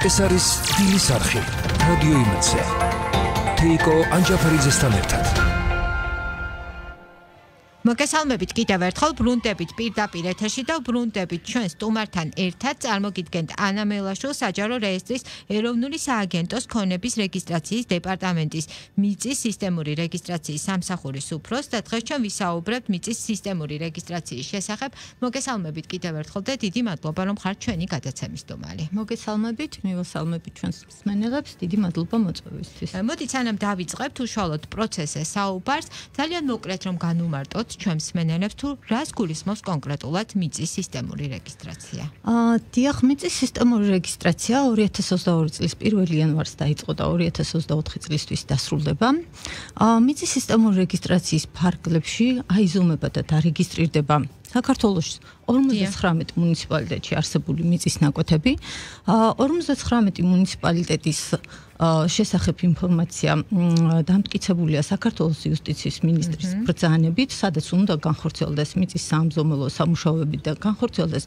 ეს არის სტილის არხი, რადიო იმედზე. თეიკო ანჯაფერიძესთან ერთად. მოგესალმებით კიდევ ერთხელ ბრუნდებით პირდაპირ ეთერში და ბრუნდებით ჩვენ სტუმართან ერთად წარმოგიდგენთ ანა მელაშვილ საჯარო რეესტრის ეროვნული სააგენტოს ქონების რეგისტრაციის დეპარტამენტის მიწის სისტემური რეგისტრაციის სამსახურის უფროს და დღეს ჩვენ ვისაუბრებთ მიწის სისტემური რეგისტრაციის შესახებ. მოგესალმებით კიდევ ერთხელ და დიდი მადლობა რომ ხართ ჩვენი გადაცემის სტუმარი. მოგესალმებით, მივესალმებით ჩვენს მსმენელებს, დიდი მადლობა მოწვევისთვის. მოდით სანამ დავიწყებთ უშუალოდ პროცესზე საუბარს, ძალიან მოკლედ რომ განვუმარტოთ ჩვენს მსმენელებს თუ რას გულისხმობს კონკრეტულად მიწის სისტემური რეგისტრაცია? დიახ, მიწის სისტემური რეგისტრაცია 2022 წლის 1 იანვარს დაიწყო და 2024 წლისთვის დასრულდება. მიწის სისტემური რეგისტრაციის ფარგლებში აიზომება და დარეგისტრირდება საქართველოს 59 მუნიციპალიტეტში არსებული მიწის ნაკვეთები. 59 მუნიციპალიტეტის შესახებ ინფორმაცია დამტკიცებულია საქართველოს იუსტიციის მინისტრის ბრძანებით, სადაც უნდა განხორციელდეს მიწის საამზომელო სამუშაოები და განხორციელდეს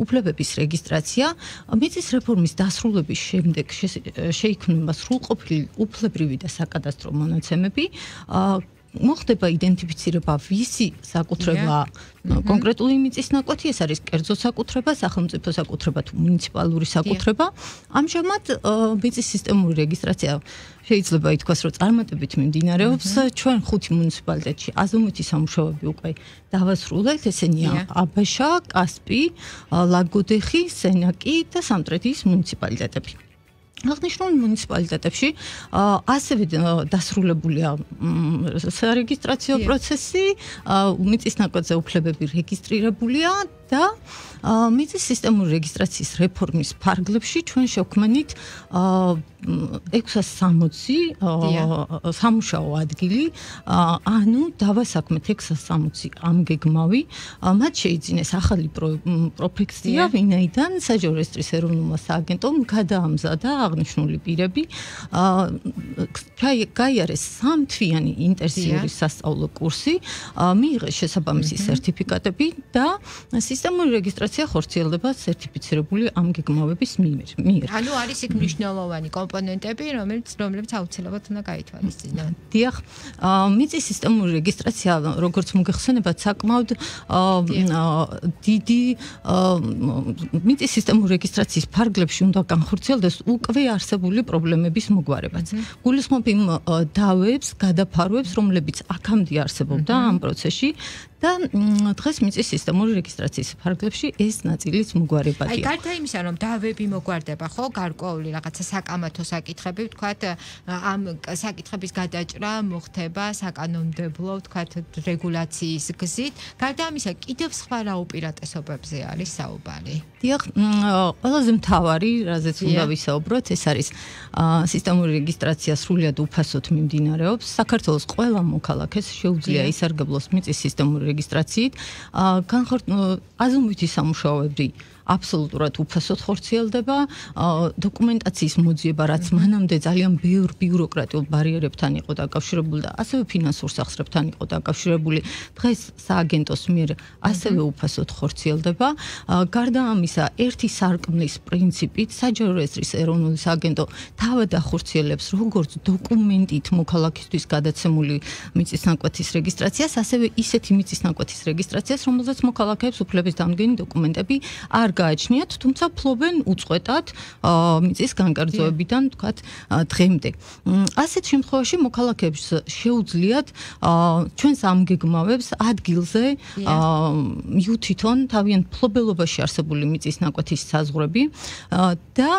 უფლებების რეგისტრაცია. მიწის რეფორმის დასრულების შემდეგ შეიქმნება სრულყოფილი უფლებრივი და საკადასტრო მონაცემები. მოხდება იდენტიფიცირება ვისი საკუთრება კონკრეტული მიწის ნაკვეთი, ეს არის კერძო საკუთრება, სახელმწიფო საკუთრება თუ მუნიციპალური საკუთრება. ამჟამად მიწის სისტემური რეგისტრაცია შეიძლება ითქვას, რომ წარმატებით მიმდინარეობს. ჩვენ 5 მუნიციპალიტეტში აზომვითი სამუშაოები უკვე დავასრულეთ, ესენია აბაშა, კასპი, ლაგოდეხი, სენაკი და სამტრედიის მუნიციპალიტეტები. აღნიშნულ მუნიციპალიტეტებში ასევე დასრულებულია სარეგისტრაციო პროცესი, მიწის ნაკვეთზე უფლებები რეგისტრირებულია და მიწის სისტემური რეგისტრაციის რეფორმის ფარგლებში ჩვენ შევქმნით 660 სამუშაო ადგილი, ანუ დავასაქმეთ 660 ამგეგმავი. მათ შეიძინეს ახალი პროფექცია, ვინაიდან საჯარო რეესტრის ეროვნულმა სააგენტომ გადაამზადა აღნიშნული პირები, გაიარეს 3 თვიანი ინტენსიური სასწავლო კურსი, მიიღეს შესაბამისი სერტიფიკატები და სისტემური რეგისტრაცია ხორციელდება სერტიფიცირებული ამგეგმავების მიერ. ანუ არის იქ მნიშვნელოვანი კომპონენტები, რომლებიც აუცილებლად უნდა გაითვალისწინონ. დიახ, მიწის სისტემური რეგისტრაცია, როგორც მოგეხსენებათ, საკმაოდ დიდი მიწის სისტემური რეგისტრაციის ფარგლებში უნდა განხორციელდეს უკვე არსებული პრობლემების მოგვარებაც. გულისხმობ იმ დავებს, გადაფარვებს, რომლებიც აქამდე არსებობდა ამ პროცესში და დღეს მიწის სისტემური რეგისტრაციის ფარგლებში ეს ნაწილიც მოგვარებადია. აი, გარდა იმისა, რომ დავები მოგვარდება, ხო, გარკვეული რაღაცა საკამათო საკითხები, ვთქვათ, ამ საკითხების გადაჭრა მოხდება საკანონმდებლო, ვთქვათ, რეგულაციის გზით. გარდა ამისა, კიდევ სხვა რა უპირატესობებზე არის საუბარი? დიახ, ყველაზე მთავარი, რაზეც უნდა ვისაუბროთ, ეს არის სისტემური რეგისტრაცია სრულიად უფასოდ მიმდინარეობს. საქართველოს ყველა მოქალაქეს შეუძლია ისარგებლოს მიწის სისტემური რეგისტრაციით. აზომვითი სამუშაოები აბსოლუტურად უფასოდ ხორციელდება. დოკუმენტაციის მოძიება, რაც მანამდე ძალიან ბევრ ბიუროკრატიულ ბარიერებთან იყო დაკავშირებული და ასევე ფინანსურ სახსრებთან იყო დაკავშირებული, დღეს სააგენტოს მიერ ასევე უფასოდ ხორციელდება. გარდა ამისა, ერთი სარკმლის პრინციპით საჯარო რეესტრის ეროვნული სააგენტო თავად ახორციელებს როგორც დოკუმენტით მოქალაქისთვის გადაცემული მიწის ნაკვეთის რეგისტრაციას, ასევე ისეთი მიწის ნაკვეთის რეგისტრაციას, რომელზეც მოქალაქეებს უფლების დამდგენი დოკუმენტები არ გააჩნიათ, თუმცა ფლობენ უწყვეტად მიწის განკერძოებიდან, თქვათ, დღემდე. ასეთ შემთხვევაში მოქალაქეებს შეუძლიათ ჩვენს ამგეგმავებს ადგილზე მიუთითონ თავიანთ ფლობელობაში არსებული მიწის ნაკვეთის საზღვრები და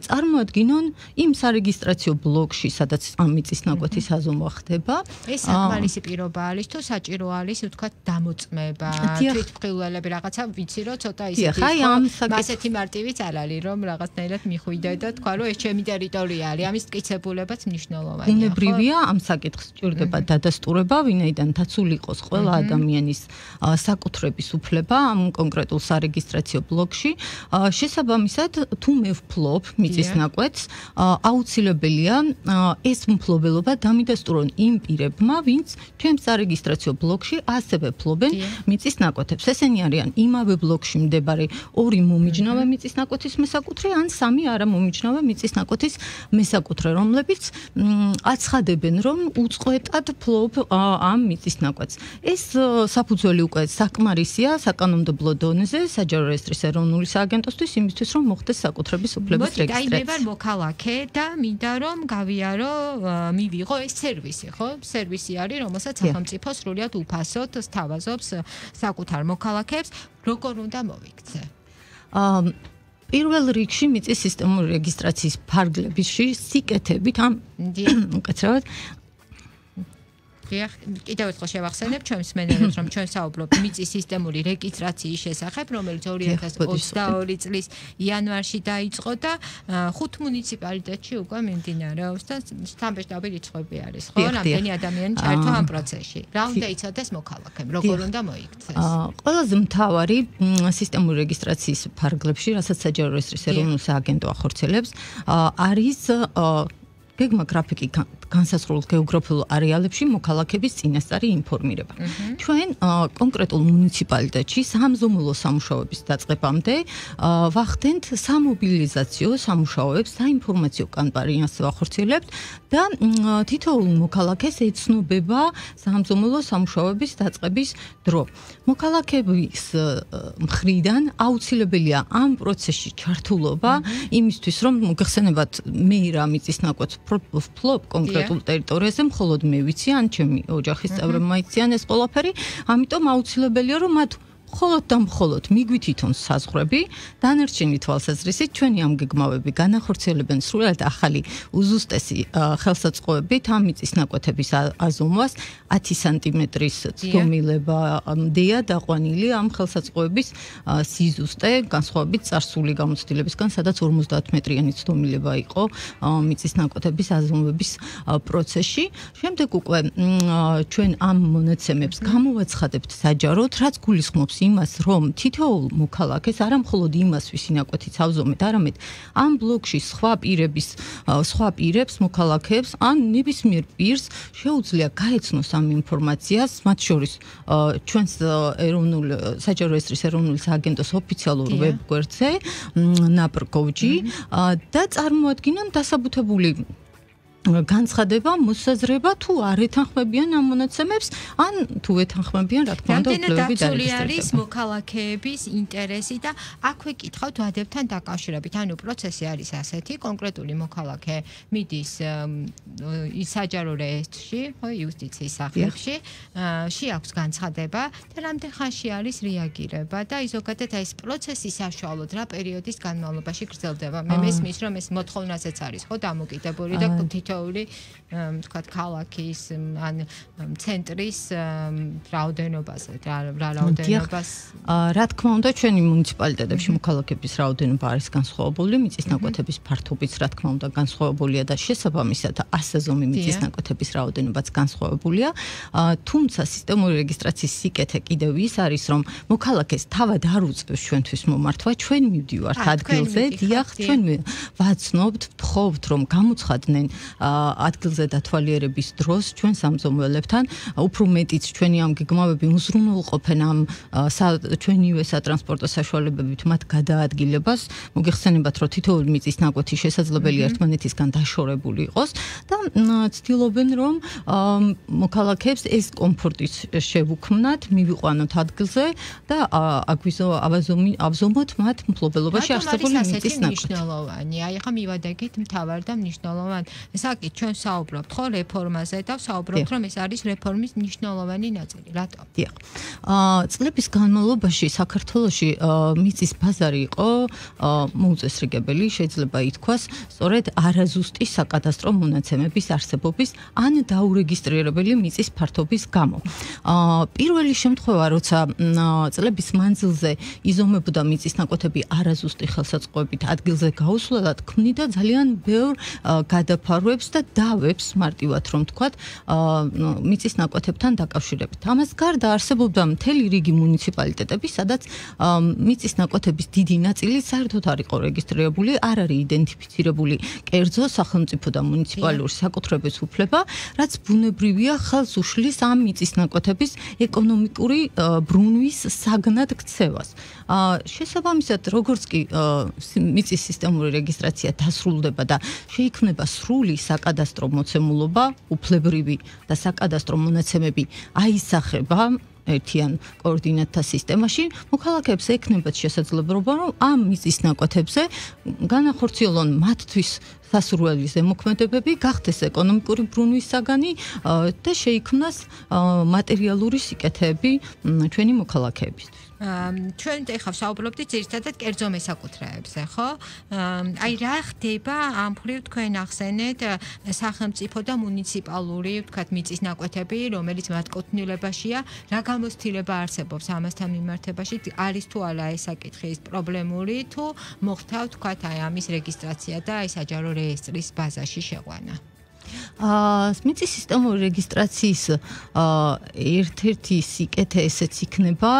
წარმოადგინონ იმ სარეგისტრაციო ბლოკში, სადაც ამ მიწის ნაკვეთის აზომვა ხდება. ეს საკმარისი პირობა არის თუ საჭირო არის, ვთქვათ, დამოწმება, თვითმხილველები რაღაცა ვიცი რომ ცოტა ისეთი მასეთი მარტივიც არ არის, რომ რაღაცნაირად მიხვიდე და თქვა, რომ ეს ჩემი ტერიტორია არის, ამის მტკიცებულებაც მნიშვნელოვანია. უნებრივია ამ საკითხს სჭირდება დადასტურება, ვინაიდან დაცული იყოს ყველა ადამიანის საკუთრების უფლება ამ კონკრეტულ სარეგისტრაციო ბლოკში. შესაბამისად, თუ მე ვფლობ მიწის ნაკვეთს, აუცილებელია ეს მფლობელობა დამიდასტურონ იმ პირებმა, ვინც ჩვენს სარეგისტრაციო ბლოკში ასევე ფლობენ მიწის ნაკვეთებს. ესენი არიან იმავე ბლოკში მდებარე 2 მომიჯნავე მიწისნაკვეთის მესაკუთრე ან 3 არამომიჯნავე მიწისნაკვეთის მესაკუთრე, რომლებიც აცხადებენ, რომ უწყვეტად ფლობ ამ მიწისნაკვეთს. ეს საფუძველი უკვე საკმარისია საკანონმდებლო დონეზე საჯარო რეესტრის ეროვნული სააგენტოსთვის იმისთვის, რომ მოხდეს საკუთრების უფლების რეგისტრაცია. მე ვარ მოქალაქე და მინდა რომ გავიარო, მივიღო ეს სერვისი, ხო? სერვისი არის, რომელსაც სახელმწიფო სრულიად უფასოდ სთავაზობს საკუთარ მოქალაქეებს, როგორ უნდა მოვიქცე? პირველ რიგში მიწის სისტემური რეგისტრაციის ფარგლებში სიკეთებით ამ უკეთრად კიდევ ერთხელ შევახსენებ ჩვენს მენელებს, რომ ჩვენ საუბრობთ მიწის სისტემური რეგისტრაციის შესახებ, რომელიც 2022 წლის იანვარში დაიწყო და 5 მუნიციპალიტეტში უკვე მიმდინარეობს და სტამბეშტაბი რიცხვები არის, ხო? რამდენი ადამიანი ჩაერთვა ამ პროცესში? რა უნდა იცოდეს მოქალაქემ, როგორ უნდა მოიქცეს? ყველაზე მთავარი სისტემური რეგისტრაციის ფარგლებში, რასაც საჯარო რეესტრის ეროვნული სააგენტო ახორციელებს, არის გეგმა გრაფიკი განსაზღვრულ გეოგრაფიულ არეალებში მოქალაქების წინასწარი ინფორმირება. ჩვენ კონკრეტულ მუნიციპალიტეტში სამზომულო სამუშაოების დაწყებამდე ვახდენთ სამობილიზაციო სამუშაოებს, საინფორმაციო კამპანიას ვახორციელებთ და თითოეულ მოქალაქეს ეცნობება სამზომულო სამუშაოების დაწყების დრო. მოქალაქეების მხრიდან აუცილებელია ამ პროცესში ჩართულობა იმისთვის, რომ მოგეხსენებათ მე რა მიწისნაკვეთს ფლობ კონკრეტულ ტერიტორიაზე, მხოლოდ მე ვიცი, ან ჩემი ოჯახის წევრებმა იციან ეს ყველაფერი, ამიტომ აუცილებელია, რომ მათ მხოლოდ და მხოლოდ მიგვითითონ საზღვრები, დანარჩენი თვალსაზრისით ჩვენი ამ გეგმავები განახორციელებენ სრულად ახალი უზუსტესი ხელსაწყოებით ამ მიწისნაკვეთების აზომვას 10 სანტიმეტრის ცდომილებამდეა დაყვანილი ამ ხელსაწყოების სიზუსტე, განსხვავებით წარსული გამოცდილებისგან, სადაც 50 მეტრიანი ცდომილება იყო მიწისნაკვეთების აზომვების პროცესში. შემდეგ უკვე ჩვენ ამ მონაცემებს გამოვაცხადებთ საჯაროდ, რაც გულისხმობს იმას, რომ თითოეულ მოქალაქეს არა მხოლოდ იმას, ვისი ნაკვეთიც ავზომეთ, არამედ ამ ბლოკში სხვა პირებს, მოქალაქეებს ან ნებისმიერ პირს შეუძლია გაეცნოს ამ ინფორმაციას, მათ შორის ჩვენს საჯარო რეესტრის ეროვნული სააგენტოს ოფიციალურ ვებგვერდზე napr.gov.gt და წარმოადგინონ დასაბუთებული განცხადება, მოსაზრება თუ არ ეთანხმებიან ამ მონაცემებს, ან თუ ეთანხმებიან, რა თქმა უნდა, უფლებები დარეგისტრირება. არის მოქალაქეების ინტერესი და აქვე კითხავთ ვადებთან დაკავშირებით. ანუ პროცესი არის ასეთი, კონკრეტული მოქალაქე მიდის საჯარო რეესტრში, ხო, იუსტიციის სახლებში, შეაქვს განცხადება და რამდენ ხანში არის რეაგირება და ზოგადად ეს პროცესი საშუალოდ რა პერიოდის განმავლობაში გრძელდება. მე მესმის, რომ ეს მოთხოვნასაც არის, ხო, დამოკიდებული და თქვათ ქალაქის ან ცენტრის რაოდენობაზე, რა რაოდენობას. რა თქმა უნდა, ჩვენი მუნიციპალიტეტებში მოქალაქეების რაოდენობა არის განსხვავებული, მიწისნაკვეთების ფართობიც რა თქმა უნდა განსხვავებულია და შესაბამისად ასაზომი მიწისნაკვეთების რაოდენობაც განსხვავებულია. თუმცა სისტემური რეგისტრაციის სიკეთე კიდევ ის არის, რომ მოქალაქეს თავად არ უწევს ჩვენთვის მომართვა, ჩვენ მივდივართ ადგილზე, დიახ, ჩვენ ვაცნობთ, ვთხოვთ, რომ გამოცხადდნენ ადგილზე დათვალიერების დროს ჩვენ სამზომველებთან, უფრო მეტიც ჩვენი ამ გეგმავები უზრუნველყოფენ ამ ჩვენივე სატრანსპორტო საშუალებებით მათ გადაადგილებას. მოგეხსენებათ, რომ თითოეული მიწისნაკვეთი შესაძლებელია ერთმანეთისგან დაშორებული იყოს და ცდილობენ, რომ მოქალაქეებს ეს კომფორტი შევუქმნათ, მივიყვანოთ ადგილზე და ავზომოთ მათ მფლობელობაში არსებული მიწისნაკვეთი. აი ხა მივადაგეთ მთავარ და მნიშვნელოვან საკითხს ჩვენ საუბრობთ ხო რეფორმაზე და საუბრობთ რომ ეს არის რეფორმის მნიშვნელოვანი ნაწილი. რატო? დიახ. წლების განმავლობაში საქართველოში მიწის ბაზარი იყო მოუწესრიგებელი, შეიძლება ითქვას, სწორედ არაზუსტი საკადასტრო მონაცემების არსებობის ან დაურეგისტრირებელი მიწის ფართობის გამო. პირველი შემთხვევა, როცა წლების მანძილზე იზომებოდა მიწისნაკვეთები არაზუსტი ხელსაწყოებით ადგილზე გაუსვლელად, ქმნიდა ძალიან ბევრ გადაფარვებს ფაქტებს და დავებს მარტივად რომ თქვათ მიწის ნაკვეთებთან დაკავშირებით. ამას გარდა არსებობდა მთელი რიგი მუნიციპალიტეტები, სადაც მიწის ნაკვეთების დიდი ნაწილი საერთოდ არ იყო რეგისტრირებული, არ არის იდენტიფიცირებული კერძო სახელმწიფო და მუნიციპალური საკუთრების უფლება, რაც ბუნებრივია ხელს უშლის ამ მიწის ნაკვეთების ეკონომიკური ბრუნვის საგნად ქცევას. შესაბამისად, როგორც კი მიწის სისტემური რეგისტრაცია დასრულდება და შეიქმნება სრული საკადასტრო მოცემულობა, უფლებრივი და საკადასტრო მონაცემები აისახება ერთიან კოორდინატთა სისტემაში, მოქალაქეებს ექნებათ შესაძლებლობა, რომ ამ მიწის ნაკვეთებზე განახორციელონ მათთვის სასურველი ზემოქმედებები, გახდეს ეკონომიკური ბრუნვის საგანი და შეიქმნას მატერიალური სიკეთეები ჩვენი მოქალაქეებისთვის. ჩვენ ეხლა ვსაუბრობდით ძირითადად კერძო მესაკუთრეებზე, ხო? აი რა ხდება ამ მხრივ თქვენ ახსენეთ სახელმწიფო და მუნიციპალური, ვთქვათ, მიწის ნაკვეთები, რომელიც მათ კუთვნილებაშია, რა გამოცდილება არსებობს ამასთან მიმართებაში, არის თუ არა ეს საკითხი პრობლემური, თუ მოხდა, ვთქვათ, აი ამის რეგისტრაცია და აი საჯარო რეესტრის ბაზაში შეყვანა. მიწის სისტემური რეგისტრაციის ერთ-ერთი სიკეთე ესეც იქნება,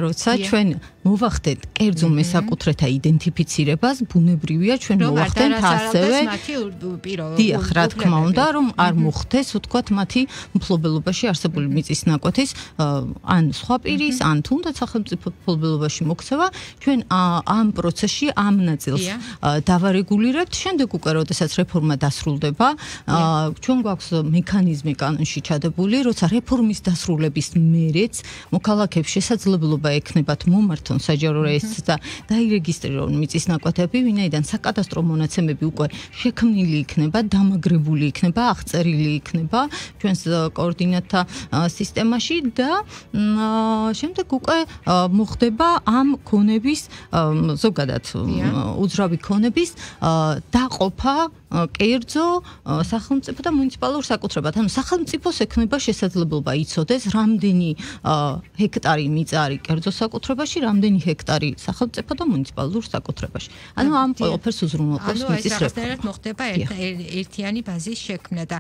როცა ჩვენ მოვახდეთ კერძო მესაკუთრეთა იდენტიფიცირებას, ბუნებრივია ჩვენ მოვახდეთ ასევე დიახ, რა თქმა უნდა, რომ არ მოხდეს, ვთქვათ, მათი მფლობელობაში არსებული მიწის ნაკვეთის ან სხვა პირის, ან თუნდაც სახელმწიფო მფლობელობაში მოქცევა, ჩვენ ამ პროცესში ამ ნაწილს დავარეგულირებთ, შემდეგ უკვე როდესაც რეფორმა დასრულდება, ჩვენ გვაქვს მექანიზმი კანონში ჩადებული, როცა რეფორმის დასრულების მერეც მოქალაქეებს შესაძლებლობა ექნებათ მომართონ საჯარო რეესტრს და დაირეგისტრირონ მიწის ნაკვეთები, ვინაიდან საკადასტრო მონაცემები უკვე შექმნილი იქნება, დამაგრებული იქნება, აღწერილი იქნება ჩვენს კოორდინატთა სისტემაში და შემდეგ უკვე მოხდება ამ ქონების ზოგადად უძრავი ქონების დაყოფა კერძო სახელმწიფო და მუნიციპალურ საკუთრებად. ანუ სახელმწიფოს ექნება შესაძლებლობა იცოდეს, რამდენი ჰექტარი მიწა არის კერძო საკუთრებაში, რამდენი ჰექტარი სახელმწიფო და მუნიციპალურ საკუთრებაში. ანუ ამ ყველაფერს უზრუნველყოფს მიწის რეფორმა. მოხდება ერთიანი ბაზის შექმნა და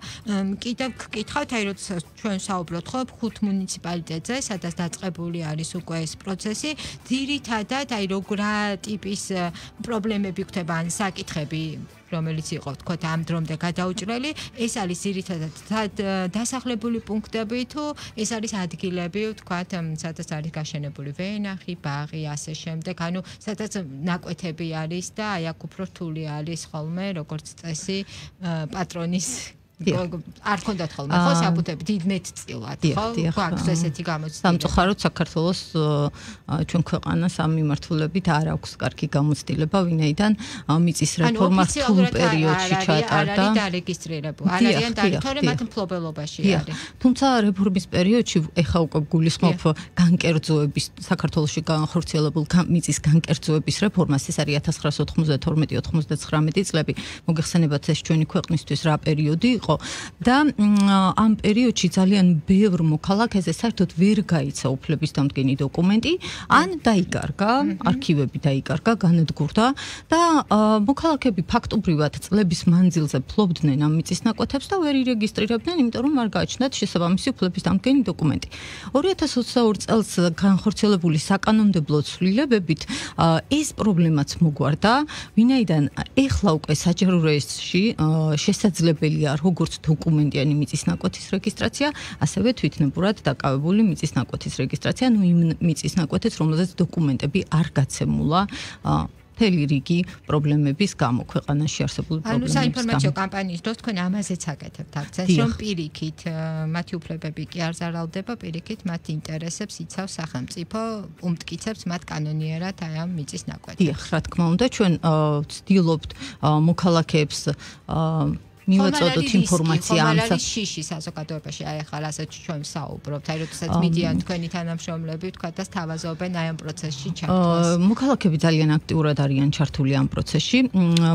კიდევ გკითხავთ, აი როცა ჩვენ საუბრობთ ხო 5 მუნიციპალიტეტზე, სადაც დაწყებული არის უკვე ეს პროცესი, ძირითადად აი რა ტიპის პრობლემები ხდება ან საკითხები რომელიც იყო თქვა ამ დრომდე გადაუჭრელი, ეს არის ძირითადად დასახლებული პუნქტები თუ ეს არის ადგილები, თქვა, სადაც არის გაშენებული ვენახი, ბაღი, ასე შემდეგ, ანუ სადაც ნაკვეთები არის და აი აქ უფრო რთული არის ხოლმე, როგორც წესი, პატრონის არ ქონდათ ხოლმე ხო საბუთები დიდ მეტწილად ხო გვაქვს ესეთი გამოცდილება სამწუხაროდ საქართველოს ჩვენ ქვეყანას ამ მიმართულებით არ აქვს კარგი გამოცდილება ვინაიდან მიწის რეფორმა რთულ პერიოდში ჩატარდა არ არის დარეგისტრირებული არ არიან თორე მათ მფლობელობაში არის თუმცა რეფორმის პერიოდში ეხა უკვე გულისხმობ განკერძოების საქართველოში განხორციელებულ მიწის განკერძოების რეფორმას ეს არის 1992-99 წლები მოგეხსენებათ ეს ჩვენი ქვეყნისთვის რა პერიოდი და ამ პერიოდში ძალიან ბევრ მოქალაქეზე საერთოდ ვერ გაიცა უფლების დამდგენი დოკუმენტი, ან დაიკარგა, არქივები დაიკარგა, განადგურდა და მოქალაქეები ფაქტობრივად წლების მანძილზე ფლობდნენ ამ მიწის ნაკვეთებს და ვერ ირეგისტრირებდნენ, იმიტომ რომ არ გააჩნდათ შესაბამისი უფლების დამდგენი დოკუმენტი. 2022 წელს განხორციელებული საკანონმდებლო ცვლილებებით ეს პრობლემაც მოგვარდა, ვინაიდან ეხლა უკვე საჯარო რეესტრში შესაძლებელია როგორც დოკუმენტიანი მიწის ნაკვეთის რეგისტრაცია, ასევე თვითნებურად დაკავებული მიწის ნაკვეთის რეგისტრაცია, ნუ იმ მიწის ნაკვეთის, რომელზეც დოკუმენტები არ გაცემულა მთელი რიგი პრობლემების გამო, ქვეყანაში არსებული პრობლემების გამო. ანუ საინფორმაციო კამპანიის დროს თქვენ ამაზეც აკეთებთ აქცენტს, რომ პირიქით მათი უფლებები კი არ ზარალდება, პირიქით მათ ინტერესებს იცავს სახელმწიფო, უმტკიცებს მათ კანონიერად აი ამ მიწის ნაკვეთს. დიახ, რა თქმა უნდა, ჩვენ ვცდილობთ მოქალაქეებს მივაწოდოთ ინფორმაცია ამ შიში საზოგადოებაში აი ახლა ასეთ ჩვენ საუბრობთ აი როდესაც მიდიან თქვენი თანამშრომლები თქვა და სთავაზობენ აი ამ პროცესში ჩართვას მოქალაქეები ძალიან აქტიურად არიან ჩართული ამ პროცესში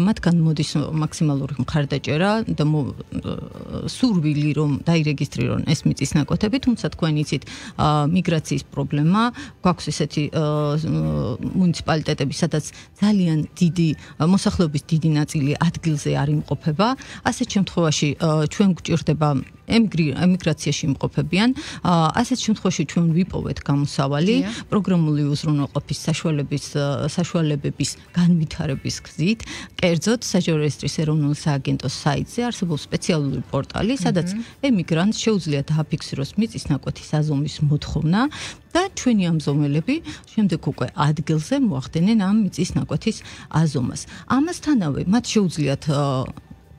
მათგან მოდის მაქსიმალური მხარდაჭერა და სურვილი რომ დაირეგისტრირონ ეს მიწის ნაკვეთები თუმცა თქვენ იცით მიგრაციის პრობლემა გვაქვს ესეთი მუნიციპალიტეტები სადაც ძალიან დიდი მოსახლეობის დიდი ნაწილი ადგილზე არ იმყოფება ასეთ შემთხვევაში ჩვენ გვჭირდება ემიგრაციაში იმყოფებიან, ასეთ შემთხვევაში ჩვენ ვიპოვეთ გამოსავალი პროგრამული უზრუნველყოფის საშუალებების განვითარების გზით, კერძოდ საჯარო რეესტრის ეროვნული სააგენტოს საიტზე არსებობს სპეციალური პორტალი, სადაც ემიგრანტს შეუძლია დააფიქსიროს მიწის ნაკვეთის აზომვის მოთხოვნა და ჩვენი ამზომელები შემდეგ უკვე ადგილზე მოახდენენ ამ მიწის ნაკვეთის აზომას. ამასთანავე მათ შეუძლიათ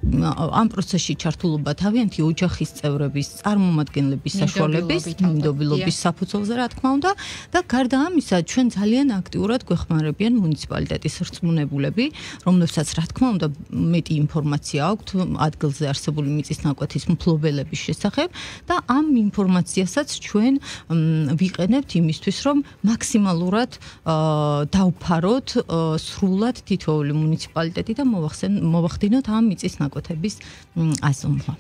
ამ პროცესში ჩართულობა თავიანთი ოჯახის წევრების, წარმომადგენლების საშუალების, მინდობილობის საფუძველზე, რა თქმა უნდა, და გარდა ამისა, ჩვენ ძალიან აქტიურად გვეხმარებიან მუნიციპალიტეტის რწმუნებულები, რომლებსაც რა თქმა უნდა მეტი ინფორმაცია აქვთ ადგილზე არსებული მიწის ნაკვეთის მფლობელების შესახებ და ამ ინფორმაციასაც ჩვენ ვიყენებთ იმისთვის, რომ მაქსიმალურად დავფაროთ სრულად თითოეული მუნიციპალიტეტი და მოვახდინოთ ამ მიწის ნაკვეთების აზომვა.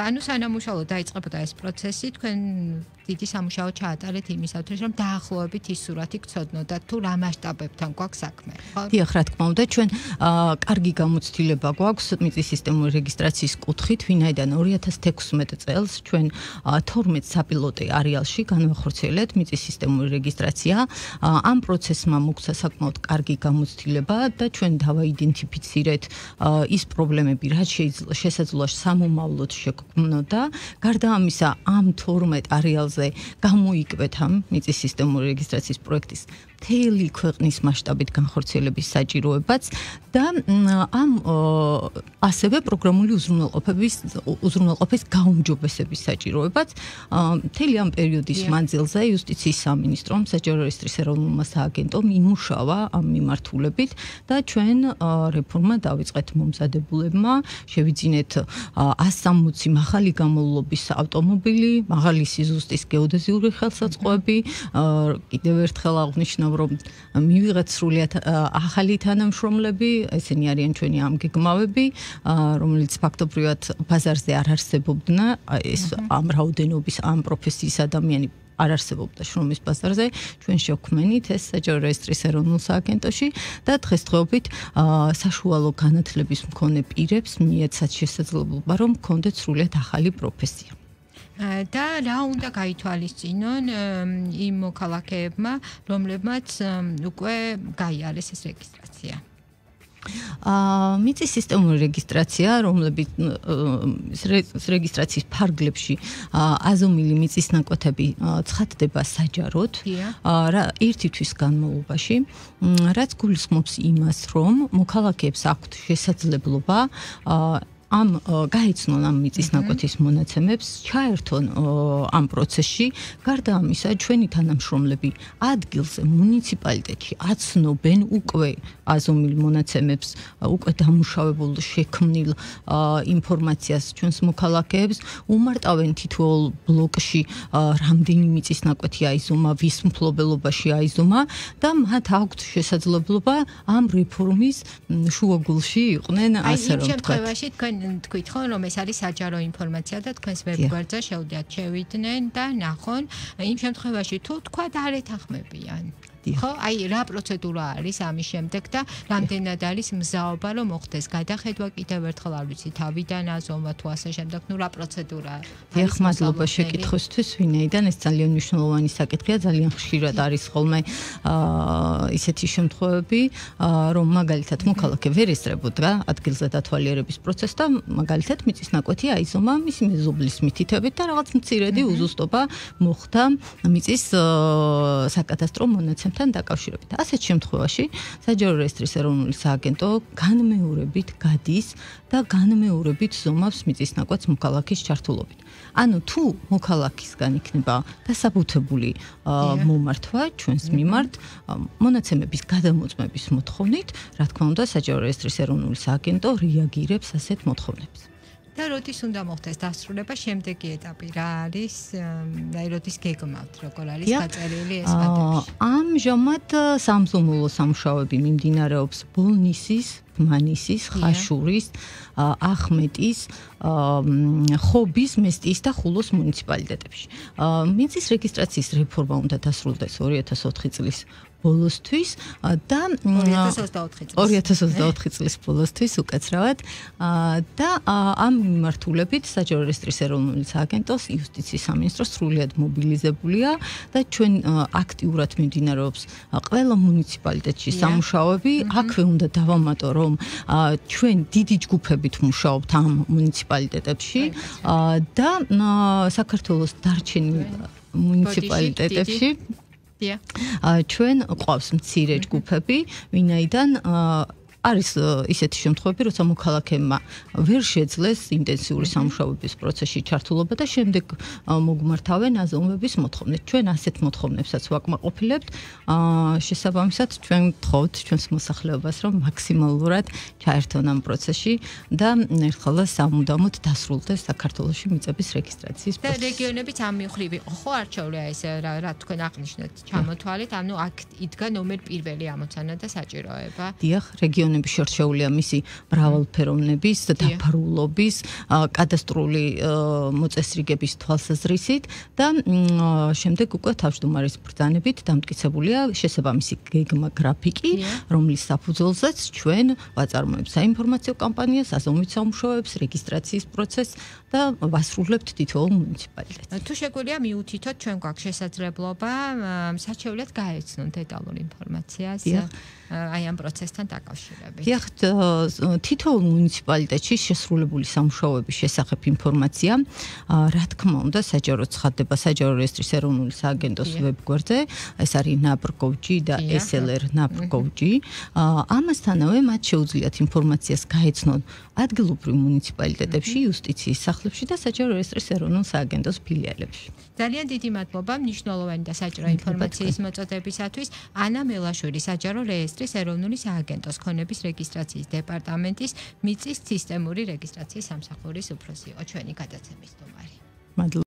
ანუ სანამუშაო დაიწყებოდა ეს პროცესი, თქვენ დიდი სამუშაო ჩაატარეთ იმისათვის, რომ დაახლოებით ის სურათი გცოდნოდათ თუ რა მასშტაბებთან გვაქვს საქმე, ხო? დიახ, რა თქმა უნდა, ჩვენ კარგი გამოცდილება გვაქვს მიწის სისტემური რეგისტრაციის კუთხით, ვინაიდან 2016 წელს ჩვენ 12 საპილოტე არეალში განვახორციელეთ მიწის სისტემური რეგისტრაცია. ამ პროცესმა მოგვცა საკმაოდ კარგი გამოცდილება და ჩვენ დავაიდენტიფიცირეთ ის პრობლემები, რაც შესაძლოა სამომავლოდ შეგვქმნოდა. გარდა ამისა, ამ 12 არეალზე გამოიკვეთა მიწის სისტემური რეგისტრაციის პროექტის მთელი ქვეყნის მასშტაბით განხორციელების საჭიროებაც და ამ ასევე პროგრამული უზრუნველყოფის გაუმჯობესების საჭიროებაც მთელი ამ პერიოდის მანძილზე იუსტიციის სამინისტრომ საჯარო რეესტრის ეროვნულმა სააგენტომ იმუშავა ამ მიმართულებით და ჩვენ რეფორმა დავიწყეთ მომზადებულებმა, შევიძინეთ 160 მაღალი გამოვლობის ავტომობილი, მაღალი სიზუსტის გეოდეზიური ხელსაწყოები, კიდევ ერთხელ აღნიშნავ რომ მივიღეთ სრულიად ახალი თანამშრომლები, ესენი არიან ჩვენი ამგეგმავები, რომელიც ფაქტობრივად ბაზარზე არ არსებობდნენ, ეს ამ რაოდენობის ამ პროფესიის ადამიანი არ არსებობდა შრომის ბაზარზე, ჩვენ შევქმნით ეს საჯარო რეესტრის ეროვნულ სააგენტოში და დღესდღეობით საშუალო განათლების მქონე პირებს მიეცათ შესაძლებლობა, რომ ჰქონდეთ სრულიად ახალი პროფესია. და რა უნდა გაითვალისწინონ იმ მოქალაქეებმა, რომლებმაც უკვე გაიარეს ეს რეგისტრაცია? მიწის სისტემური რეგისტრაცია, რომლებიც რეგისტრაციის ფარგლებში აზომილი მიწის ნაკვეთები ცხადდება საჯაროდ ერთი თვის განმავლობაში, რაც გულისხმობს იმას, რომ მოქალაქეებს აქვთ შესაძლებლობა ამ გაიცნონ ამ მიწის ნაკვეთის მონაცემებს, ჩაერთონ ამ პროცესში. გარდა ამისა, ჩვენი თანამშრომლები ადგილზე მუნიციპალიტეტში აცნობენ უკვე აზომილ მონაცემებს, უკვე დამუშავებულ შექმნილ ინფორმაციას ჩვენს მოქალაქეებს, უმარტავენ თითოეულ ბლოკში რამდენი მიწის ნაკვეთი აიზომა, ვის მფლობელობაში აიზომა და მათ აქვთ შესაძლებლობა ამ რეფორმის შუაგულში იყვნენ, ასე რომ ვთქვათ. თქვით ხო რომ ეს არის საჯარო ინფორმაცია და თქვენს ვებგვერდზე შეუძლიათ შევიდნენ და ნახონ იმ შემთხვევაში თუ თქვა არ ეთანხმებიან ხო აი რა პროცედურა არის ამის შემდეგ და რამდენად არის მზაობა რომ მოხდეს გადახედვა კიდევ ერთხელ არ ვიცი თავიდან აზომვა თუ ასე შემდეგ ნუ რა პროცედურაა დიახ მადლობა შეკითხვისთვის ვინაიდან ეს ძალიან მნიშვნელოვანი საკითხია ძალიან ხშირად არის ხოლმე ისეთი შემთხვევები რომ მაგალითად მოქალაქე ვერ ესწრებოდა ადგილზე დათვალიერების პროცესს და მაგალითად მიწის ნაკვეთი აიზომა მისი მეზობლის მითითებით და რაღაც მცირედი უზუსტობა მოხდა მიწის საკადასტრო მონაცემ დაკავშირებით. ასეთ შემთხვევაში საჯარო რეესტრის ეროვნული სააგენტო განმეორებით გადის და განმეორებით ზომავს მიწის ნაკვეთს მოქალაქის ჩართულობით. ანუ თუ მოქალაქისგან იქნება დასაბუთებული მომართვა ჩვენს მიმართ მონაცემების გადამოწმების მოთხოვნით, რა თქმა უნდა, საჯარო რეესტრის ეროვნული სააგენტო რეაგირებს ასეთ მოთხოვნებს. და როდის უნდა მოხდეს დასრულება შემდეგი ეტაპი რა არის აი როდის გეგმავთ როგორ არის გაწერილი ეს ფაქტები ამჟამად სამზომულო სამუშაოები მიმდინარეობს ბოლნისის მანისის, ხაშურის, ახმეტის, ხობის, მესტიის და ხულოს მუნიციპალიტეტებში. მიწის რეგისტრაციის რეფორმა უნდა დასრულდეს 2004 წლის ბოლოსთვის და 2024 წლის ბოლოსთვის უკაცრავად და ამ მიმართულებით საჯარო რეესტრის ეროვნული სააგენტოს იუსტიციის სამინისტრო სრულიად მობილიზებულია და ჩვენ აქტიურად მიმდინარეობს ყველა მუნიციპალიტეტში სამუშაოები. აქვე უნდა დავამატო, რომ ჩვენ დიდი ჯგუფებით მუშაობთ ამ მუნიციპალიტეტებში და საქართველოს დარჩენილ მუნიციპალიტეტებში ჩვენ ყავს მცირე ჯგუფები, ვინაიდან არის ისეთი შემთხვევები, როცა მოქალაქეებმა ვერ შეძლეს ინტენსიური სამუშაოების პროცესში ჩართულობა და შემდეგ მოგმართავენ აზომვების მოთხოვნით. ჩვენ ასეთ მოთხოვნებსაც ვაკმაყოფილებთ. შესაბამისად, ჩვენ გთხოვთ ჩვენს მოსახლეობას, რომ მაქსიმალურად ჩაერთონ ამ პროცესში და ერთხელ სამუდამოდ დასრულდეს საქართველოში მიწების რეგისტრაციის პროცესი. და რეგიონებიც ამ მხრივ ხო არ ჩაულია ეს რა თქვენ აღნიშნეთ, ჩამოთვალეთ, ანუ აქ იდგა ნომერ პირველი ამოცანა და საჭიროება. დიახ, რეგიონები შერჩეულია მისი მრავალფეროვნების, დაფარულობის, კადასტრული მოწესრიგების თვალსაზრისით და შემდეგ უკვე თავმჯდომარის ბრძანებით დამტკიცებულია შესაბამისი გეგმა გრაფიკი, რომლის საფუძველზეც ჩვენ ვაწარმოებთ საინფორმაციო კამპანიას, აზომვით სამუშაოებს, რეგისტრაციის პროცესს და ვასრულებთ თითოეულ მუნიციპალიტეტს. თუ შეგვიძლია მიუთითოთ, ჩვენ გვაქვს შესაძლებლობა საჩევლად გაეცნოთ დეტალურ ინფორმაციას აი ამ პროცესთან დაკავშირებით. დიახ, თითოეულ მუნიციპალიტეტში შესრულებული სამუშაოების შესახებ ინფორმაცია, რა თქმა უნდა, საჯარო ცხადდება საჯარო რეესტრის ეროვნული სააგენტოს ვებგვერდზე, ეს არის nab.gov.g და slr.nab.gov.g. ამასთანავე მათ შეუძლიათ ინფორმაციას გაეცნონ ადგილობრივ მუნიციპალიტეტებში, იუსტიციის სახლებში და საჯარო რეესტრის ეროვნულ სააგენტოს ფილიალებში. ძალიან დიდი მადლობა მნიშვნელოვანი და საჭირო ინფორმაციის მოწოდებისათვის. ანა მელაშვილი, საჯარო რეესტრის ეროვნული სააგენტოს ქონების რეგისტრაციის დეპარტამენტის მიწის სისტემური რეგისტრაციის სამსახურის უფროსი იყო ჩვენი გადაცემის სტუმარი. მადლობა.